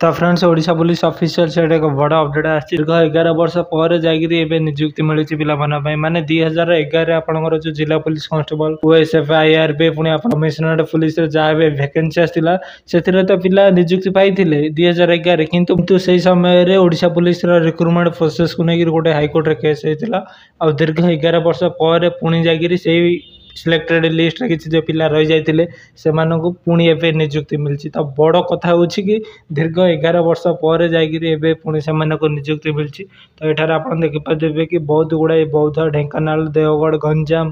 ତ friends, Odisha police official site ଏକ ବଡ଼ ଅପଡ଼େଟ୍ ଆସିଛି। ଦୀର୍ଘ 11 ବର୍ଷ ପରେ ଯାଇକିରି ଏବେ ନିଯୁକ୍ତି ମିଳିଛି ପିଲାମାନଙ୍କ ପାଇଁ। ମାନେ 2011ରେ ଆପଣଙ୍କର ଯେଉଁ ଜିଲ୍ଲା ପୋଲିସ କନଷ୍ଟେବଲ, ଓଏସ୍ଏଫ୍, ଆଇଆର୍ବି, ପୁଣି ଆପଣ କମିଶନରେଟ୍ ପୋଲିସରେ ଯାହା ବି ଭ୍ୟାକେନ୍ସି ଆସିଥିଲା, ସେଥିରେ ତ ପିଲା ନିଯୁକ୍ତି ପାଇଥିଲେ 2011ରେ। କିନ୍ତୁ ସେଇ ସମୟରେ ଓଡ଼ିଶା ପୋଲିସର ରିକ୍ରୁଟମେଣ୍ଟ ପ୍ରୋସେସକୁ ନେଇକିରି ଗୋଟେ ହାଇକୋର୍ଟରେ କେସ୍ ହେଇଥିଲା। ଆଉ ଦୀର୍ଘ 11 ବର୍ଷ ପରେ ପୁଣି ଯାଇକିରି ସେଇ ସିଲେକ୍ଟେଡ଼ ଲିଷ୍ଟରେ କିଛି ଯେଉଁ ପିଲା ରହିଯାଇଥିଲେ, ସେମାନଙ୍କୁ ପୁଣି ଏବେ ନିଯୁକ୍ତି ମିଳିଛି। ତ ବଡ଼ କଥା ହେଉଛି କି ଦୀର୍ଘ 11 ବର୍ଷ ପରେ ଯାଇକିରି ଏବେ ପୁଣି ସେମାନଙ୍କୁ ନିଯୁକ୍ତି ମିଳିଛି। ତ ଏଠାରେ ଆପଣ ଦେଖିପାରୁଥିବେ କି ବହୁତ ଗୁଡ଼ାଏ ବୌଦ୍ଧ, ଢେଙ୍କାନାଳ, ଦେଓଗଡ଼, ଗଞ୍ଜାମ,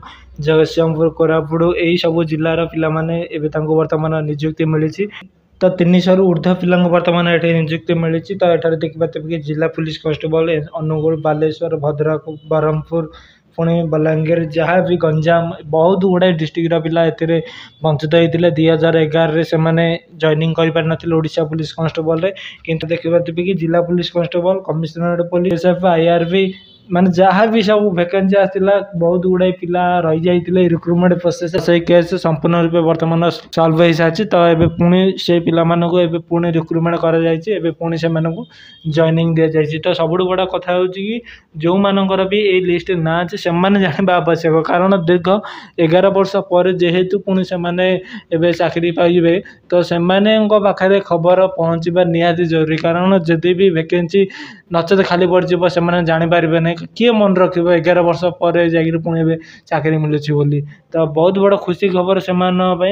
ଜଗତସିଂହପୁର, କୋରାପୁଟ, ଏଇସବୁ ଜିଲ୍ଲାର ପିଲାମାନେ ଏବେ ତାଙ୍କୁ ବର୍ତ୍ତମାନ ନିଯୁକ୍ତି ମିଳିଛି। ତ 300ରୁ ଉର୍ଦ୍ଧ୍ୱ ପିଲାଙ୍କୁ ବର୍ତ୍ତମାନ ଏଠି ନିଯୁକ୍ତି ମିଳିଛି। ତ ଏଠାରେ ଦେଖିପାରୁଥିବେ କି ଜିଲ୍ଲା ପୋଲିସ କନଷ୍ଟେବଳ ଅନୁଗୁଳ, ବାଲେଶ୍ୱର, ଭଦ୍ରକ, ବ୍ରହ୍ମପୁର, ପୁଣି ବଲାଙ୍ଗୀର, ଯାହା ବି ଗଞ୍ଜାମ, ବହୁତ ଗୁଡ଼ାଏ ଡିଷ୍ଟ୍ରିକ୍ଟର ପିଲା ଏଥିରେ ବଞ୍ଚିତ ହେଇଥିଲେ। 2011ରେ ସେମାନେ ଜଏନିଂ କରିପାରିନଥିଲେ ଓଡ଼ିଶା ପୋଲିସ କନଷ୍ଟେବଳରେ। କିନ୍ତୁ ଦେଖିପାରୁଥିବେ କି ଜିଲ୍ଲା police constable, commissionerate police, F, IRB, ମାନେ ଯାହା ବି ସବୁ ଭ୍ୟାକେନ୍ସି ଆସିଥିଲା, ବହୁତ ଗୁଡ଼ାଏ ପିଲା ରହିଯାଇଥିଲେ ରିକ୍ରୁଟମେଣ୍ଟ ପ୍ରୋସେସ୍। ସେଇ କେସ୍ ସମ୍ପୂର୍ଣ୍ଣ ରୂପେ ବର୍ତ୍ତମାନ ସଲ୍ଭ ହେଇସାରିଛି। ତ ଏବେ ପୁଣି ସେଇ ପିଲାମାନଙ୍କୁ ଏବେ ପୁଣି ରିକ୍ରୁଟମେଣ୍ଟ କରାଯାଇଛି, ଏବେ ପୁଣି ସେମାନଙ୍କୁ ଜଏନିଂ ଦିଆଯାଇଛି। ତ ସବୁଠୁ ବଡ଼ କଥା ହେଉଛି କି ଯେଉଁମାନଙ୍କର ବି ଏଇ ଲିଷ୍ଟରେ ନାଁ ଅଛି, ସେମାନେ ଜାଣିବା ଆବଶ୍ୟକ। କାରଣ ଦୀର୍ଘ 11 ବର୍ଷ ପରେ ଯେହେତୁ ପୁଣି ସେମାନେ ଏବେ ଚାକିରି ପାଇବେ, ତ ସେମାନଙ୍କ ପାଖରେ ଖବର ପହଞ୍ଚିବା ନିହାତି ଜରୁରୀ। କାରଣ ଯଦି ବି ଭ୍ୟାକେନ୍ସି ନଚେତ ଖାଲି ପଡ଼ିଯିବ, ସେମାନେ ଜାଣିପାରିବେ ନାହିଁ। କିଏ ମନେ ରଖିବ 11 ବର୍ଷ ପରେ ଯାଇକିରି ପୁଣି ଏବେ ଚାକିରି ମିଳୁଛି ବୋଲି? ତ ବହୁତ ବଡ଼ ଖୁସି ଖବର ସେମାନଙ୍କ ପାଇଁ।